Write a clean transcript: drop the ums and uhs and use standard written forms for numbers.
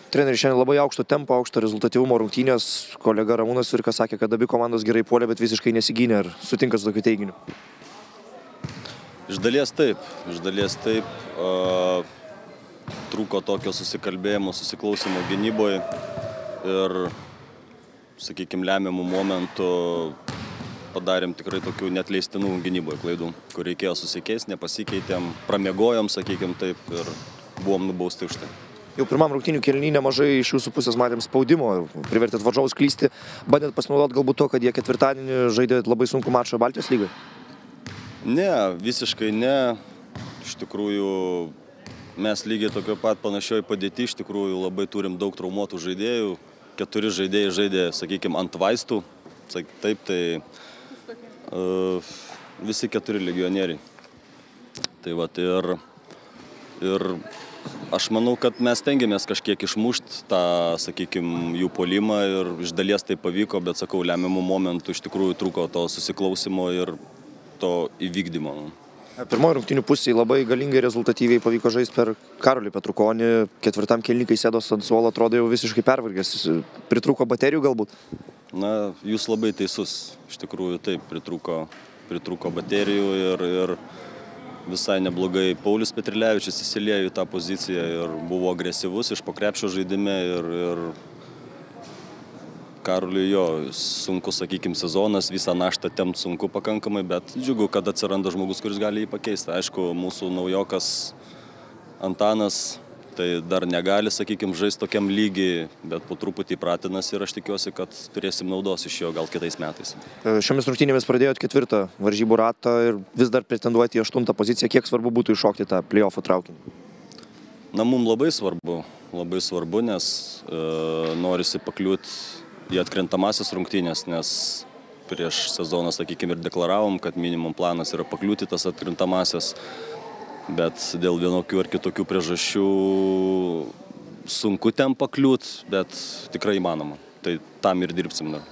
Treneris šiandien labai aukšto tempo, aukšto rezultatyvumo rungtynės. Kolega Ramūnas Virkas sakė, kad abi komandos gerai puolė, bet visiškai nesigynė. Ar sutinka su tokiu teiginiu? Iš dalies taip. Trūko tokio susikalbėjimo, susiklausimo gynyboje ir, sakykime, lemiamų momentų padarėm tikrai tokių neatleistinų gynyboje klaidų, kur reikėjo susikeisti, nepasikeitėm, pramiegojom, sakykime taip, ir buvom nubausti už tai. Jau pirmam rungtynių kėliny nemažai iš jūsų pusės matėm spaudimo, privertėt varžovus klysti, bandėt pasinaudoti galbūt to, kad jie ketvirtadienį žaidė labai sunkų mačą Baltijos lygoje? Ne, visiškai ne. Iš tikrųjų, mes lygiai tokio pat panašioj padėti, iš tikrųjų labai turim daug traumuotų žaidėjų. 4 žaidėjai žaidė, sakykime, ant vaistų. Taip, tai visi 4 legionieriai. Tai vat ir aš manau, kad mes stengiamės kažkiek išmušti tą, sakykime, jų puolimą ir iš dalies tai pavyko, bet sakau, lemiamų momentų iš tikrųjų trūko to susiklausimo ir to įvykdymo. Pirmoji rungtynių pusėje labai galingai rezultatyviai pavyko žaisti per Karolį Petrukonį. Ketvirtam kėliny, kai sėdos ant suolo, atrodo jau visiškai pervargęs. Pritrūko baterijų galbūt? Na, jūs labai teisus. Iš tikrųjų taip, pritrūko baterijų ir visai neblogai Paulius Petrilevičius įsiliejo į tą poziciją ir buvo agresyvus iš po krepšio žaidime ir Karoliui jo sunku, sakykime, sezonas, visą naštą tempt sunku pakankamai, bet džiugu, kad atsiranda žmogus, kuris gali jį pakeisti. Aišku, mūsų naujokas Antanas tai dar negali, sakykime, žaisti tokiam lygiai, bet po truputį pratinasi ir aš tikiuosi, kad turėsim naudos iš jo gal kitais metais. Šiomis rungtynėmis pradėjot 4. varžybų ratą ir vis dar pretenduojate į 8. poziciją. Kiek svarbu būtų iššokti tą play-offų traukinį? Na, mums labai svarbu, nes norisi pakliūti į atkrintamasis rungtynės, nes prieš sezoną, sakykime, ir deklaravom, kad minimum planas yra pakliūti tas atkrintamasis. Bet dėl vienokių ar kitokių priežasčių sunku ten pakliūt, bet tikrai įmanoma. Tai tam ir dirbsim dar.